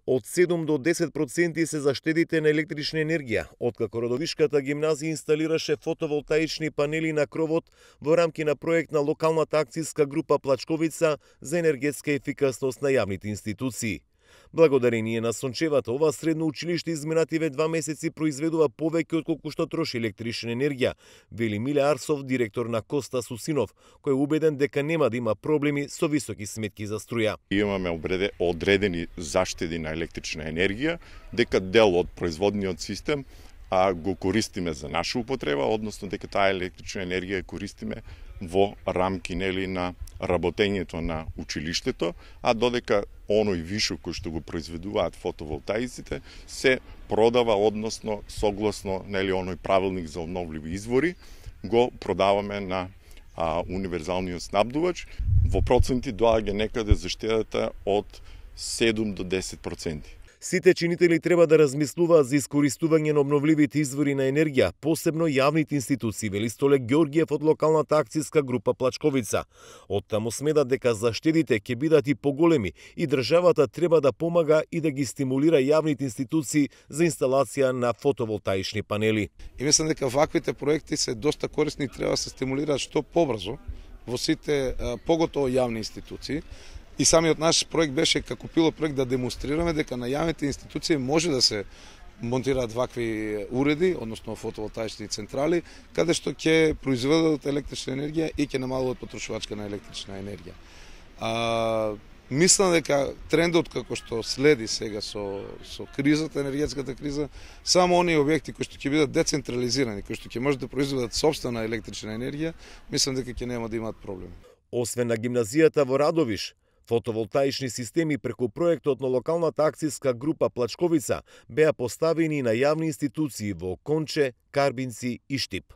Од 7 до 10% се заштедите на електрична енергија, откако Родовишката гимназија инсталираше фотоволтаични панели на кровот во рамки на проект на локалната акцијска група Плачковица за енергетска ефикасност на јавните институции. Благодарение на сончевата, ова средно училиште изминативе 2 месеци произведува повеќе отколку што троши електрична енергија, вели Миле Арсов, директор на Коста Сусинов, кој е убеден дека нема да има проблеми со високи сметки за струја. Имаме одредени заштеди на електрична енергија, дека дел од производниот систем го користиме за наша употреба, односно дека таа електрична енергија користиме во рамки на работењето на училиштето, а додека оној вишок кој што го произведуваат фотоволтаиците се продава, односно согласно оној правилник за обновливи извори, го продаваме на универзалниот снабдувач. Во проценти доаѓа некаде заштедата од 7 до 10%. Сите чинители треба да размислуваат за искористување на обновливите извори на енергија, посебно јавните институции, вели Столе Ѓоргиев од локалната акцијска група Плачковица. Оттаму смедат дека заштедите ќе бидат и поголеми и државата треба да помага и да ги стимулира јавните институции за инсталација на фотоволтаични панели. И мислам дека ваквите проекти се доста корисни и треба да се стимулираат што побрзо во сите поготово јавни институции. И самиот наш проект беше како пилот проект да демонстрираме дека на јавните институции може да се монтираат вакви уреди, односно фотоволтаични централи, каде што ќе произведат електрична енергија и ќе намалуваат потрошувачка на електрична енергија. Мислам дека трендот како што следи сега со кризата, енергетската криза, само оние објекти кои што ќе бидат децентрализирани, кои што ќе можат да произведат сопствена електрична енергија, мислам дека ќе нема да имаат проблеми. Освен на гимназијата во Радовиш, фотоволтаични системи преку проектот на локалната акцијска група Плачковица беа поставени на јавни институции во Конче, Карбинци и Штип.